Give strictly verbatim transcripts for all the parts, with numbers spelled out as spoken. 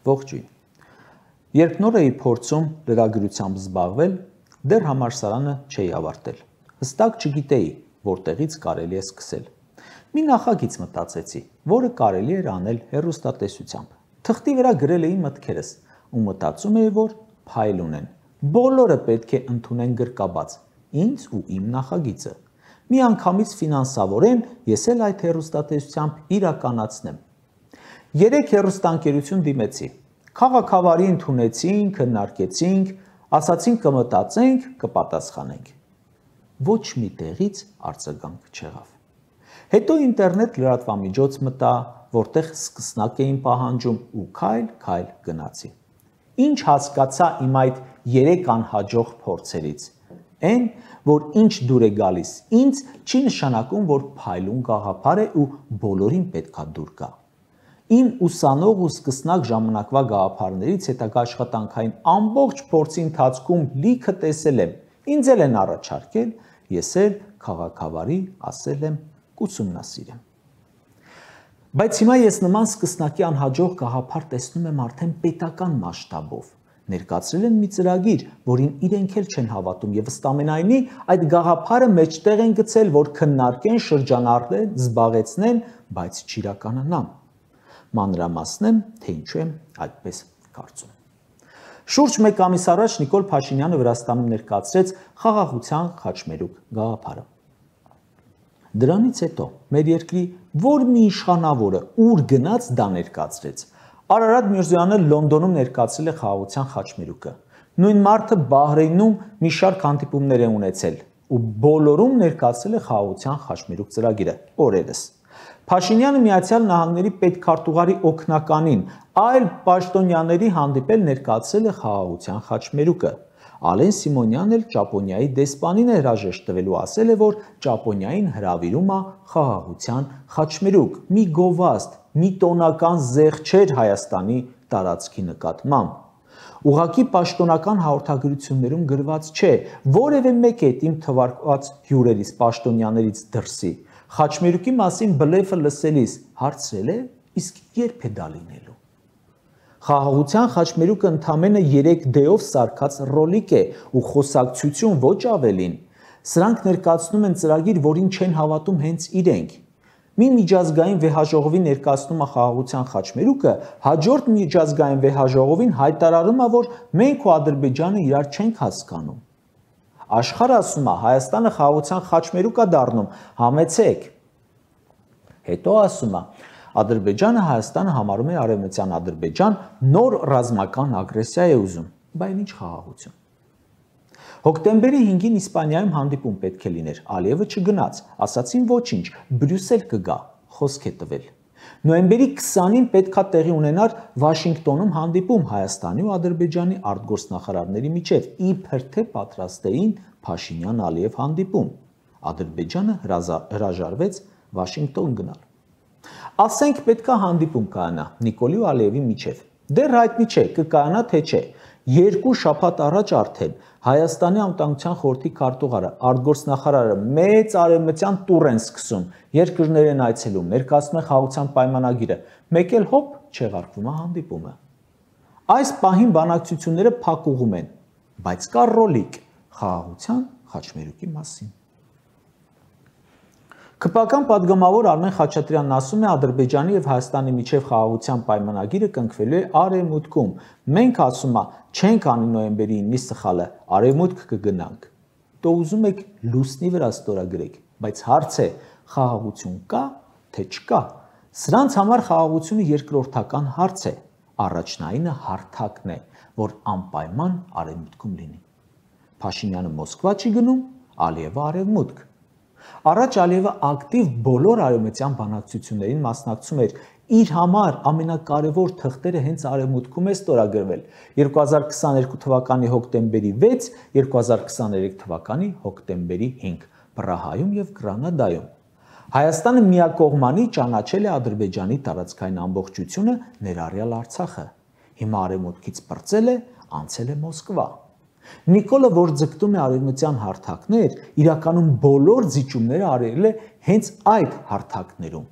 Ողջույն։ Երբ նոր էի փորձում լրագրությամբ զբաղվել, դեռ համալսարանը չէի ավարտել։ Հստակ չգիտեի, որտեղից կարելի է սկսել։ Մի նախագիծ մտածեցի, որը կարելի էր անել հեռուստատեսությամբ։ Թղթի վրա գրել էի մտքերս ու մտածում էի, որ փայլ ունեն։ Բոլորը պետք է ընդունեն գրկաբաց, ինձ ու իմ նախագիծը։ Մի անգամից ֆինանսավորեն, ես էլ այդ հեռուստատեսությամբ իրականացնեմ։ Երեք հեռուստաընկերություն դիմեցի։ Քաղաքավարի ընդունեցինք, քննարկեցինք, ասացինք կմտածենք, կպատասխանենք։ Ոչ մի տեղից արձագանք չեղավ։ Հետո ինտերնետ լրատվամիջոց մտա, որտեղ սկսնակ էին պահանջում ու քայլ-քայլ գնացի։ Ինչ հասկացա իմ այդ երեք անհաջող փորձերից։ Այն, որ ինչ դուր է գալիս ինձ, չի նշանակում, որ փայլուն գաղափար է ու բոլորին պետքա դուր գա։ Իմ ուսանող ու սկսնակ ժամանակվա գաղափարներից հետագա աշխատանքային ամբողջ փորձի ընթացքում լիքը տեսել եմ, ինձ էլ են առաջարկել, ես էլ քաղաքավարի ասել եմ կուսումնասիրեմ։ Բայց հիմա ես նման սկսնակի անհաջող գաղափար տեսնում եմ արդեն պետական մասշտաբով։ Ներկայացրել են մի ծրագիր, որին իրենք էլ չեն հավատում եւ ըստամենայնի այդ գաղափարը մեջտեղ են գցել, որ քննարկեն, շրջանառեն, զբաղեցնեն, բայց չիրականանան։ Մանրամասնեմ, թե ինչու եմ այդպես կարծում։ Շուրջ մեկ ամիս առաջ Նիկոլ Փաշինյանը Վրաստանում ներկայացրեց խաղաղության խաչմերուկ գաղափարը։ Դրանից հետո մեր երկրի որ մի իշխանավորը ուր գնաց դա ներկայացրեց։ Արարատ Միրզոյանը Լոնդոնում ներկայացրել է խաղաղության խաչմերուկը։ Նույն մարդը Բահրեյնում մի շարք հանդիպումներ է ունեցել ու բոլորում ներկայացրել է խաղաղության խաչմերուկ ծրագիրը օրերս։ Փաշինյանը Միացյալ Նահանգների պետքարտուղարի օգնականին այլ պաշտոնյաների հանդիպել ներկայացրել է խաղաղության խաչմերուկը։ Ալեն Սիմոնյանն էլ Ճապոնիայի դեսպանին է հրաժեշտ տվել ու ասել է, որ Ճապոնիային հրավիրում է խաղաղության խաչմերուկ, մի գովազդ, մի տոնական զեղչեր Հայաստանի տարածքի նկատմամբ։ Ուղղակի պաշտոնական հաղորդագրություններում գրված չէ, որևէ մեկ է իմ թվարկված հյուրերից, պաշտոնյաներից դրսի։ Խաչմերուկի մասին բլեֆը լսելիս հարցրել է, իսկ երբ է դա լինելու։ Խաղաղության խաչմերուկը ընդամենը երեք դեով սարքած ռոլիկ է ու խոսակցություն ոչ ավելին։ Սրանք ներկայացնում են ծրագիր, որին չեն հավատում հենց իրենք։ Մի միջազգային վեհաժողովի ներկայացնում է խաղաղության խաչմերուկը, հաջորդ միջազգային վեհաժողովին հայտարարում է, որ մենք ու Ադրբեջանը իրար չենք հասկանում։ Աշխարհը ասում է, Հայաստանը խաղաղության խաչմերուկ է դառնում, համեցեք։ Հետո ասում է, Ադրբեջանը Հայաստանը համարում է արևմտյան Ադրբեջան, նոր ռազմական ագրեսիա է ուզում, բայց ինչ խաղաղություն։ Հոկտեմբերի հինգին Իսպանիայում հանդիպում պետք է լիներ, Ալիևը չգնաց, ասացին ոչինչ, Բրյուսել կգա, խոսք է տվել։ Նոյեմբերի քսանին պետքա տեղի ունենար Վաշինգտոնում հանդիպում Հայաստանի ու Ադրբեջանի արտգործնախարարների միջև, իբր թե պատրաստ էին Փաշինյան-Ալիև հանդիպում։ Ադրբեջանը հրաժարվեց Վաշինգտոն գնալ։ Ասենք պետքա հանդիպում կայանա Նիկոլի ու Ալիևի միջև։ Դեռ հայտնի չէ, կկայանա թե չէ։ Երկու շաբաթ առաջ արդեն Հայաստանի անվտանգության խորհրդի քարտուղարը, արտգործնախարարը մեծ արևմտյան տուր են սկսում, երկրներ են այցելում, ներկայացնում են խաղաղության պայմանագիրը, մեկ էլ հոպ չեղարկվում է հանդիպումը։ Այս պահին բանակցությունները փակուղում են, բայց կա ռոլիկ խաղաղության խաչմերուկի մասին։ Քպական պատգամավոր Արմեն Խաչատրյանն ասում է, Ադրբեջանի եւ Հայաստանի միջև խաղաղության պայմանագիրը կնքվելու է արևմուտքում։ Մենք ասում է, չենք անի նոյեմբերի ինը սխալը, արևմուտք կգնանք։ Դու ուզում եք լուսնի վրա ստորագրեք, բայց հարց է, խաղաղություն կա, թե չկա։ Սրանց համար խաղաղությունը երկրորդական հարց է։ Առաջնայինը հարթակն է, որ անպայման արևմուտքում լինի։ Փաշինյանը Մոսկվա չի գնում, Ալիևը արևմուտք։ Առաջ Ալիևը ակտիվ բոլոր արևմտյան բանակցություններին մասնակցում էր, իր համար ամենակարևոր թղթերը հենց արևմուտքում է ստորագրվել երկու հազար քսաներկու թվականի հոկտեմբերի վեց, երկու հազար քսաներեք թվականի հոկտեմբերի հինգ, Պրահայում եւ Գրանադայում։ Հայաստանը միակողմանի ճանաչել է Ադրբեջանի տարածքային ամբողջությունը, ներառյալ Արցախը։ Հիմա արևմուտքից պրծել է, անցել է Մոսկվա։ Նիկոլը, որ ձգտում է արևմտյան հարթակներ, իրականում բոլոր զիջումները արել է հենց այդ հարթակներում։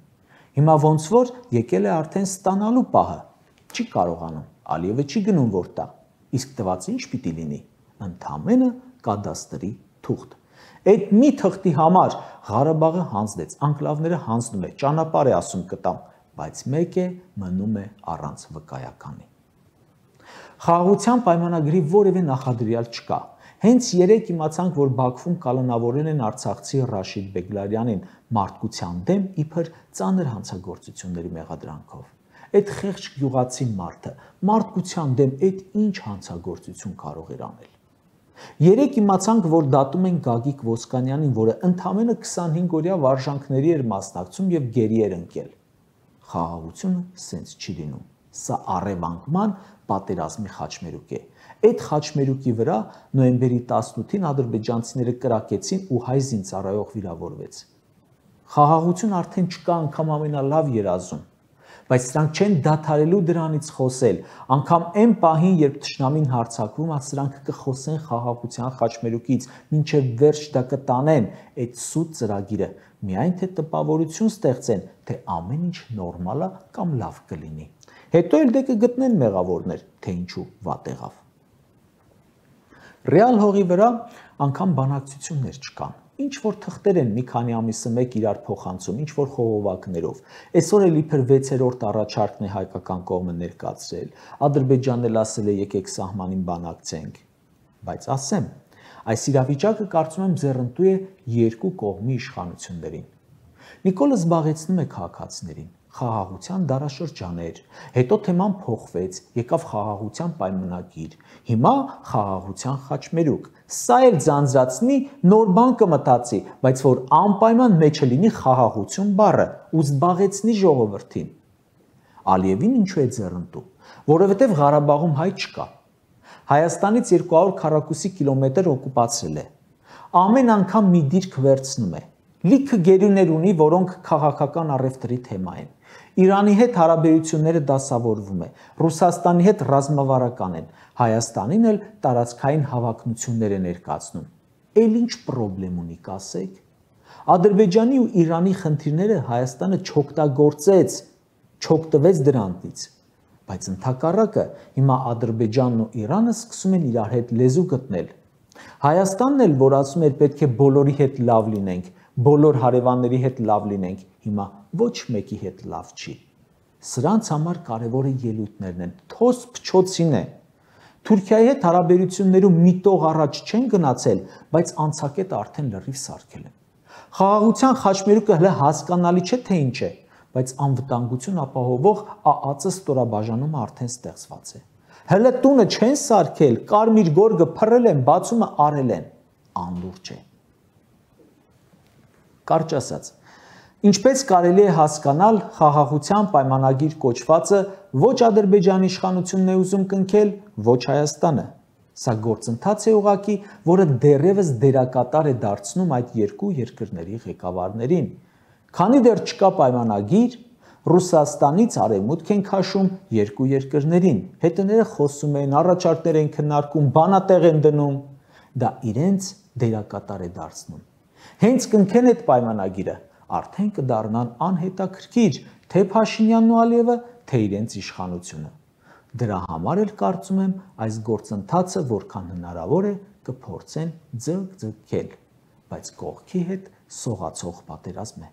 Հիմա ոնց որ եկել է արդեն ստանալու պահը, չի կարողանում, Ալիևը չի գնում որ տա, իսկ տված ինչ պիտի լինի, ընդամենը կադաստրի թուղթ։ Այդ մի թղթի համար Ղարաբաղը հանձնեց, անկլավները հանձնում է, ճանապարհ է ասում կտամ, բայց մեկ է մնում է առանց վկայականի։ Խաղաղության պայմանագրի որևէ նախադրյալ չկա։ Հենց երեկ իմացանք, որ Բաքվում կալանավորել են արցախցի Ռաշիդ Բեգլարյանին մարդկության դեմ իբր ծանր հանցագործությունների մեղադրանքով։ Այդ խեղճ գյուղացի մարդը մարդկության դեմ այդ ինչ հանցագործություն կարող էր անել։ Երեկ իմացանք, որ դատում են Գագիկ Ոսկանյանին, որը ընդամենը քսանհինգ օրյա վարժանքների էր մասնակցում եւ գերի էր ընկել։ Խաղաղությունը սենց չի լինում։ Սա առևանգման պատերազմի խաչմերուկ է։ Այդ խաչմերուկի վրա նոյեմբերի տասնութին ադրբեջանցիները կրակեցին ու հայ զինծառայող վիրավորվեց։ Խաղաղություն արդեն չկա անգամ ամենալավ երազում, բայց սրանք չեն դադարելու դրանից խոսել, անգամ այն պահին, երբ թշնամին հարձակվում, սրանք կխոսեն խաղաղության խաչմերուկից, մինչև վերջ դա կտանեն այդ սուտ ծրագիրը, միայն թե տպավորություն ստեղծեն, թե ամեն ինչ նորմալ է կամ լավ կլինի։ Հետո էլ դե կգտնեն մեղավորներ, թե ինչու վատ եղավ։ Ռեալ հողի վրա անգամ բանակցություններ չկան։ Ինչ որ թղթեր են մի քանի ամիսը մեկ իրար փոխանցում, ինչ որ խողովակներով։ Այսօր էլ իբր վեցերորդ առաջարկն է հայկական կողմը ներկայացրել։ Ադրբեջանն էլ ասել է եկեք սահմանին բանակցենք։ Բայց ասեմ, այս իրավիճակը կարծում եմ ձեռնտու է երկու կողմի իշխանություններին։ Նիկոլը զբաղեցնում է քաղաքացիներին, խաղաղության դարաշրջաներ, հետո թեման փոխվեց, եկավ խաղաղության պայմանագիր, հիմա խաղաղության խաչմերուկ։ Սա էլ ձանձրացնի, նոր բան կմտածի, բայց որ անպայման մեջը լինի խաղաղություն բառը ու զբաղեցնի ժողովրդին։ Ալիևին ինչու է ձեռնտու, որովհետև Ղարաբաղում հայ չկա։ Հայաստանից երկու հարյուր քառակուսի կիլոմետր օկուպացրել է։ Ամեն անգամ մի դիրք վերցնում է։ Լիքը գերիներ ունի, որոնք քաղաքական առևտրի թեմա են։ Իրանի հետ հարաբերությունները դասավորվում է, Ռուսաստանի հետ ռազմավարական են, Հայաստանին էլ տարածքային հավակնություններ է ներկայացնում։ Էլ ինչ պրոբլեմ ունի, կասեք։ Ադրբեջանի ու Իրանի խնդիրները Հայաստանը չօգտագործեց, չօգտվեց դրանից, բայց ընդհակառակը հիմա Ադրբեջանն ու Իրանը սկսում են իրար հետ լեզու գտնել։ Հայաստանն էլ, որ ասում էր պետք է բոլորի հետ լավ լինենք, բոլոր հարևանների հետ լավ լինենք, հիմա ոչ մեկի հետ լավ չի։ Սրանց համար կարևորը ելույթներն են, թոս փչոցին է։ Թուրքիայի հետ հարաբերություններում մի տող առաջ չեն գնացել, բայց անցակետը արդեն լրիվ սարքել են։ Խաղաղության խաչմերուկը հələ հասկանալի չէ թե ինչ է, բայց անվտանգություն ապահովող ԱԱԾ ստորաբաժանումը արդեն ստեղծված է։ Հələ տունը չեն սարքել, կարմիր գորգը փռել են, բացումը արել են, անլուրջ է։ Կարճ ասած, ինչպես կարելի է հասկանալ, խաղաղության պայմանագիր կոչվածը ոչ Ադրբեջանի իշխանությունն է ուզում կնքել, ոչ Հայաստանը։ Սա գործընթաց է ուղղակի, որը դեռևս դերակատար է դարձնում այդ երկու երկրների ղեկավարներին։ Քանի դեռ չկա պայմանագիր, Ռուսաստանից արևմուտք են քաշում երկու երկրներին, հետները խոսում են, առաջարկներ են քննարկում, բանատեղ են դնում, դա իրենց դերակատար է դարձնում։ Հենց կնքեն այդ պայմանագիրը, արդեն կդառնան անհետաքրքիր թե Փաշինյանն ու Ալիևը, թե իրենց իշխանությունը։ Դրա համար էլ կարծում եմ այս գործընթացը որքան հնարավոր է կփորձեն ձգ-ձգել, բայց կողքի հետ սողացող պատերազմ է։